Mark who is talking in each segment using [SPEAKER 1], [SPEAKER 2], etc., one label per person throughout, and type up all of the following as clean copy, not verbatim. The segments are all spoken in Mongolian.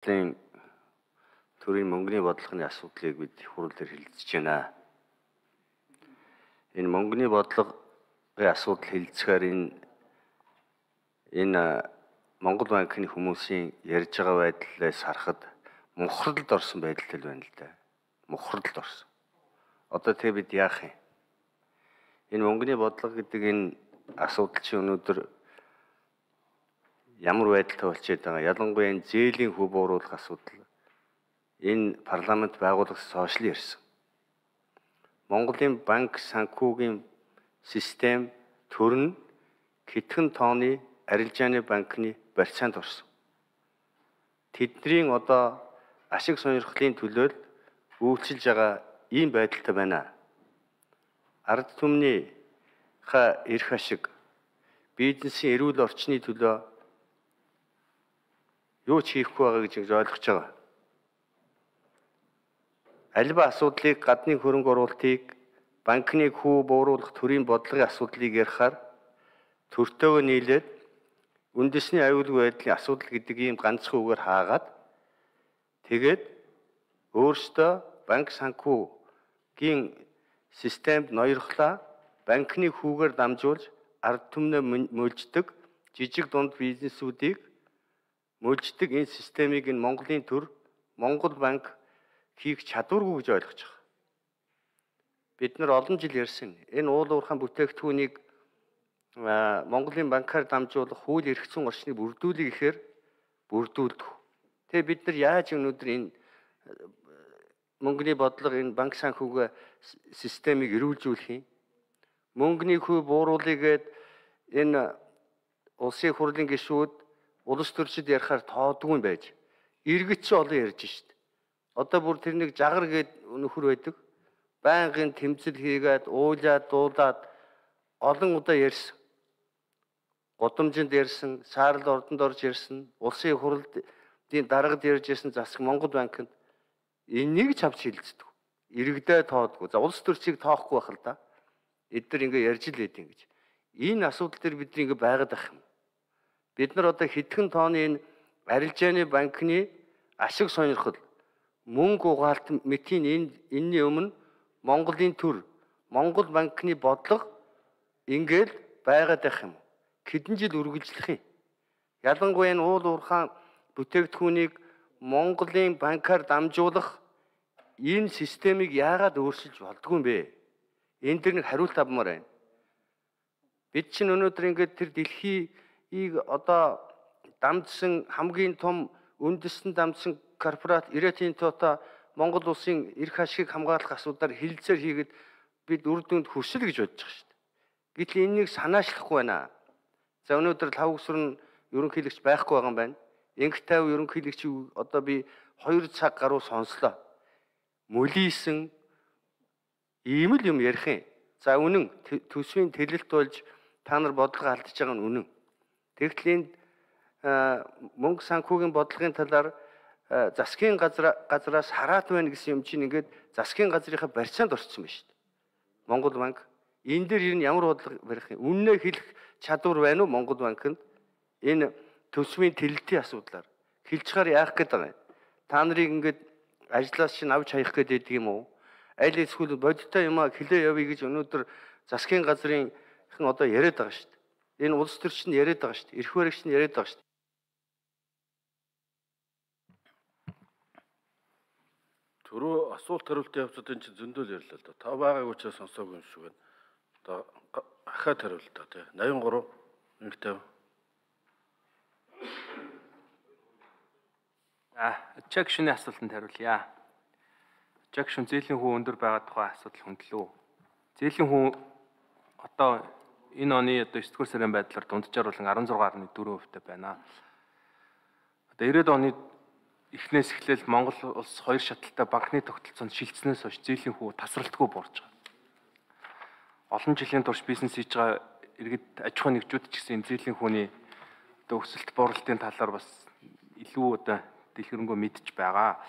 [SPEAKER 1] төрийн мөнгөний бодлогын асуудлыг бид хурал дээр хэлэлцэж байна. Энэ мөнгөний бодлогын асуудал хэлэлцэхээр энэ Монгол банкны хүмүүсийн ярьж байгаа байдлаас харахад мухралд орсон байдалтай байна л да. Мухралд орсон. Одоо тэгээ бид яах юм? Энэ мөнгөний бодлого гэдэг энэ асуудал чинь өнөөдөр ямар байдалтай болчиход байгаа. Ялангуяа энэ зээлийн хөв бууруулах асуудал энэ парламент байгуулагдсан хойшлон ирсэн. Монголын банк санхүүгийн систем төрн хэдхэн тооны арилжааны банкны барьцаанд орсон. Тэдний одоо ашиг сонирхлын төлөө үйлчилж байгаа ийм байдалтай байна. Ард түмний эрх ашиг, бизнесийн эрүүл орчны төлөө юу ч хийхгүй байгаа гэж ойлгож байгаа. Альва асуудлыг гадны хөрөнгө оруулалтыг банкны хүү бууруулах төрийн бодлогын асуудлыг ярихаар төртөөгөө нийлээд үндэсний аюулгүй байдлын асуудал гэдэг ийм ганцхан үгээр хаагаад тэгээд өөрсдөө банк санхүүгийн системд ноёрхлаа банкны хүүгээр дамжуулж ард түмнээ мөлждөг жижиг дунд бизнесүүдийг мөлждөг энэ системийг энэ Монголын төр Монгол банк хийх чадваргүй гэж ойлгож байгаа. Бид нар олон жил ярьсан. Энэ уул уурхайн бүтээгдэхүүнийг Монголын банкаар дамжуулах хууль эрх зүйн орчныг бүрдүүлэх гэхээр бүрдүүлдэг. Тэгээ бид нар яаж өнөөдөр энэ мөнгөний бодлого энэ банк санхүүгийн системийг эрүүлжүүлэх юм? Мөнгөний хүү бууруулъя гэд энэ улсын хурлын гишүүд улс төрчид ярихаар тоодгүй юм байж. Иргэд ч олон ярьж шít. Одоо бүр тэр нэг жагар гээд нөхөр байдаг. Байнгын тэмцэл хийгээд уулаад дуулаад олон удаа ярьсан. Годомжинд ярьсан, Саарл ордонд орж ярьсан, улсын хурлын даргад ярьж ярьсан засаг Монгол банкнд энийг ч авч хилцдэг. Иргэдээ тоодгүй. За улс төрчийг тоохгүй байх л да. Эдгээр ингээ ярьж л байдیں۔ Гэж. Энэ асуудал дээр бид ингээ байгаад ах юм. Бид нар одоо хэдхэн тооны энэ арилжааны банкны ашиг сонирхол мөнгө угаалт мэтийн энэний өмнө Монголын төр Монгол банкны бодлого ингээл байгаад байх юм. Хэдэн жил үргэлжлэх юм. Ялангуяа энэ уул уурхайн бүтээгдэхүүнийг Монголын банкаар дамжуулах энэ системийг яагаад өөрчилж болдгүй юм бэ? Энэ дэр нэг хариулт авмаар байна. Бид чинь өнөөдөр ингээд тэр дэлхийг одоо дамжсан хамгийн том үндэстэн дамжсан корпорат Ирэтийн Тота Монгол улсын эрх ашигыг хамгаалах асуудаар хилцээр хийгээд бид үр дүнд хүрсэл гэж бодож байгаа шүү дээ. Гэтэл энэнийг санаачлахгүй байна. За өнөөдөр лав өсвөр нь ерөнхийлөгч байхгүй байгаа юм байна. Инх 50 ерөнхийлөгч одоо би 2 цаг гаруй сонслоо. Мөлийсэн ийм л юм ярих юм. За үнэн төсвийн тэлэлт болж та нар бодлого алдаж байгаа нь үнэн. Тэгтэл энэ мөнгө санхүүгийн бодлогын талаар засгийн газраас хараат байна гэсэн юм чинь ингээд засгийн газрынхаа барьцаанд орцсон байна шүү дээ. Монгол банк энэ дээр ер нь ямар бодлого барих юм? Үннээ хэлэх чадвар байна уу Монгол банкнд? Энэ төсвийн тэлэлтийн асуудлаар хэлчихээр яах гээд байгаа юм? Та нарыг ингээд ажлаас чинь авч хаях гээд байдаг юм уу? Аль эсвэл бодиттой юм а хэлээ явъя гэж өнөөдөр засгийн газрын одоо яриад байгаа шүү дээ. Энэ улс төрч нь яриад байгаа шүү дээ. Эрх баригч нь яриад байгаа шүү дээ.
[SPEAKER 2] Түрүү асуулт хариултын явцад энэ чинь зөндөл ярьлаа л да. Та байгаагүй учраас сонсоогүй юм шиг байна. Одоо ахаад хариулт та тий. 83 150.
[SPEAKER 3] Чек шүний асуултанд хариулъя. Чек шүн зээлийн хүү өндөр байгаа тухай асуудал хөндлөө. Зээлийн хүү одоо энэ оны одоо 9 дугаар сарын байдлаар дунджаар болон 16.4% байна. Одоо 90-ад оны эхнээс эхлээл Монгол улс хоёр шаталтай банкны тогтолцоонд шилжснээс хойш зээлийн хүү тасралтгүй буурж байгаа. Олон жилийн турш бизнес хийж байгаа иргэд аж ахуйн нэгжүүд ч гэсэн энэ зээлийн хүүний одоо өсөлт бууралтын талаар бас илүү одоо дэлгэрэнгүй мэдж байгаа.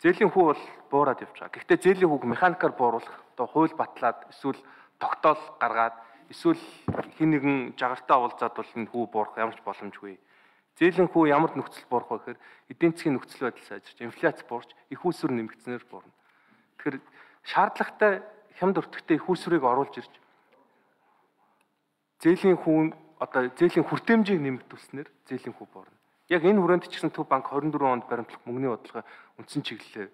[SPEAKER 3] Зээлийн хүү бол буураад явж байгаа. Гэхдээ зээлийн хүүг механикаар бууруулах одоо хууль батлаад эсвэл тогтоол гаргаад эсвэл хэн нэгэн жагартай уулзаад бол энэ хүү буурах ямар ч боломжгүй. Зээлийн хүү ямар нөхцөл буурах вэ гэхээр эдийн засгийн нөхцөл байдал сайжирч, инфляц буурч, их үүсвэр нэмэгдснээр буурна. Тэгэхээр шаардлагатай хямд өртөгтэй их үүсвэрийг оруулж ирж зээлийн хүртээмжийг нэмэгдүүлснээр зээлийн хүү буурна. Яг энэ хүрээнд ч гэсэн Төв банк 24 онд баримтлах мөнгөний бодлогын үндсэн чиглэлээр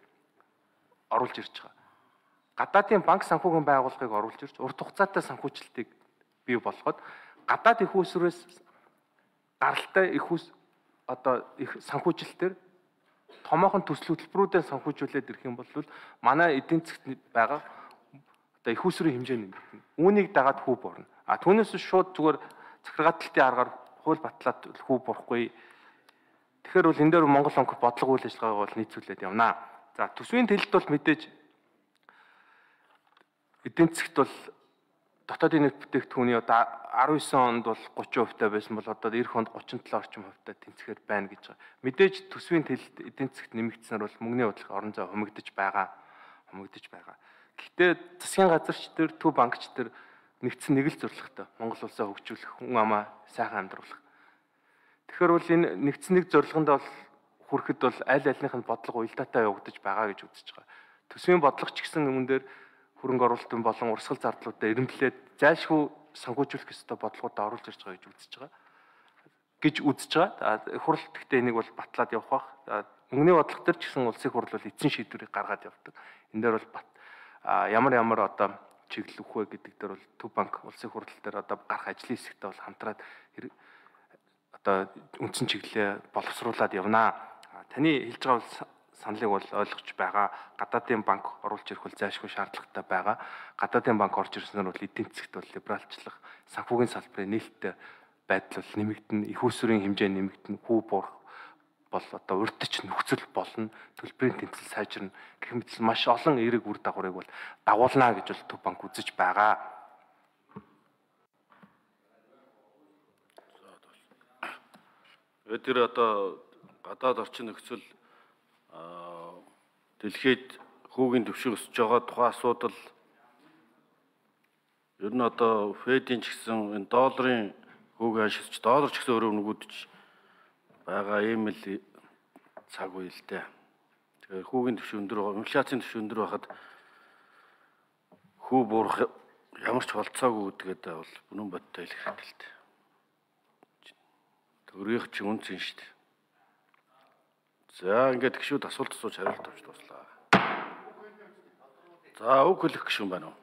[SPEAKER 3] оруулж ирж байгаа. Гадаадын банк санхүүгийн байгууллагыг оруулж ирж урт хугацаатай санхүүжилтийг бий болгоод гадаад их үүсвэрээс гаралтай их санхүүжилтээр томоохон төсөл хөтөлбөрүүдэд санхүүжүүлээд ирэх юм бол манай эдийн засгт байгаа их үүсвэрийн хэмжээ нэмэгдэнэ. Үүнийг дагаад хүү буурна. Түүнээс шууд зүгээр захиргааталтын аргаар хууль батлаад хүү буурахгүй. Тэгэхээр бол энэ дээр Монгол банк бодлого үйл ажиллагааг бол нийцүүлээд явна. За төсвийн төлөлт бол мэдээж эдийн засгт бол дотоодын нийт бүтээгдэхүүний одоо 19 онд бол 30% байсан бол одоо эх онд 37 орчим хувьтай тэнцэхээр байна гэж байгаа. Мэдээж төсвийн төлөлт эдийн засгт нэмэгдсэнээр бол мөнгөний бодлого орон зай хумигдаж байгаа. Гэхдээ засгийн газарч төр Төв банкч төр нэгдсэн нэг л зорилготой Монгол улсаа хөгжүүлэх, хүн амаа сайхан амьдруулах. Тэгэхээр бол энэ нэгдсэн нэг зорилгонд бол хүрэхэд бол аль альнийхын бодлого уялдаатай явагдаж байгаа гэж үзэж байгаа. Төсвийн бодлого ч гэсэн үүн дээр хөрөнгө оруулалтын болон урсгал зардлуудаа эренблээд зайлшгүй санхүүжүүлэх ёстой бодлогуудаа оруулж ирж байгаа гэж үзэж байгаа. Хурал гэхдээ энийг бол батлаад явах бах. Мөнгөний бодлого төр ч гэсэн улсын хурал бол эцсийн шийдвэрийг гаргаад явдаг. Энэ дээр бол ямар одоо чиглэл өгөх вэ гэдэг дээр бол Төв банк улсын хурал дээр одоо гарах ажлын хэсэгтээ бол хамтраад одоо үндсэн чиглэлээ боловсруулад явнаа. Таны хэлж байгаа саналыг бол ойлгож байгаа. Гадаадын банк оруулж ирэх бол зайлшгүй шаардлагатай байгаа. Гадаадын банк орж ирснээр бол эдийн засгт бол либералчлах, санхүүгийн салбарын нээлттэй байдал бол нэмэгдэнэ, их үүсвэрийн хэмжээ нэмэгдэнэ, хүү буурах бол одоо урьдчилан нөхцөл болно, төлбөрийн тэнцэл сайжирна гэх мэт маш олон эерэг үр дагаврыг бол дагуулна гэж бол Төв банк үзэж байгаа.
[SPEAKER 2] Тэр одоо гадаад орчин нөхцөл дэлхийд хүүгийн төвшин өсөж байгаа тухайн асуудал ер нь одоо Федийн ч гэсэн энэ долларын хүүгийн ханшилч доллар ч гэсэн өөрөө нөгөөдөж байгаа ийм л цаг үе л дээ. Тэгэхээр хүүгийн төвшин өндөр, инфляцийн төвшин өндөр байхад хүү буурах ямар ч болцоогүй гэдгээд бол үнэн бодтой хэлэх хэрэгтэй л дээ. Төрийнх ч үнцэн шүү дээ. За ингээд гişүүд асуулт асууж хариулт авч дуслаа. За үг хэлэх гişүүн байна уу?